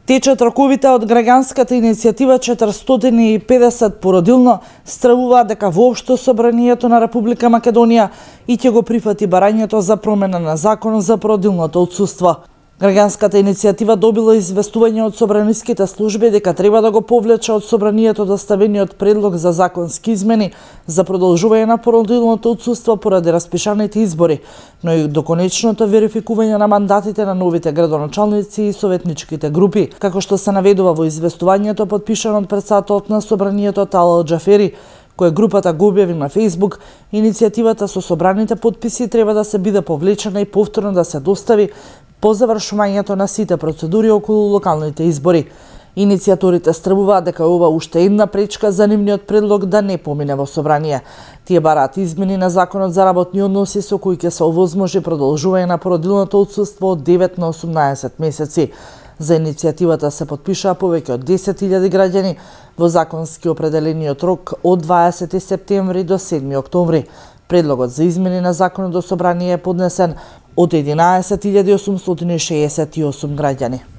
Течат роковите од граѓанската иницијатива 450 породилно, стравуваат дека воопшто Собранието на Република Македонија и ќе го прифати барањето за промена на законот за породилното отсуство. Граѓанската иницијатива добила известување од собраниските служби дека треба да го повлече од Собранието доставениот предлог за законски измени за продолжување на породилното отсуство поради распишаните избори, но и до конечното верификување на мандатите на новите градоначалници и советничките групи, како што се наведува во известувањето подпишано од претседателот на Собранието Талал Џафери, која групата го објави на Facebook. Иницијативата со собраните потписи треба да се биде повлечена и повторно да се достави по завршувањето на сите процедури околу локалните избори. Иницијаторите стравуваат дека ова уште една пречка за нивниот предлог да не помине во собрание. Тие бараат измени на законот за работни односи со кои ќе се овозможи продолжување на породилното отсуство од 9 на 18 месеци. За иницијативата се подпишаа повеќе од 10.000 граѓани во законски определениот рок од 20 септември до 7 октомври. Предлогот за измени на законот до собрание е поднесен од 11.868 граѓани.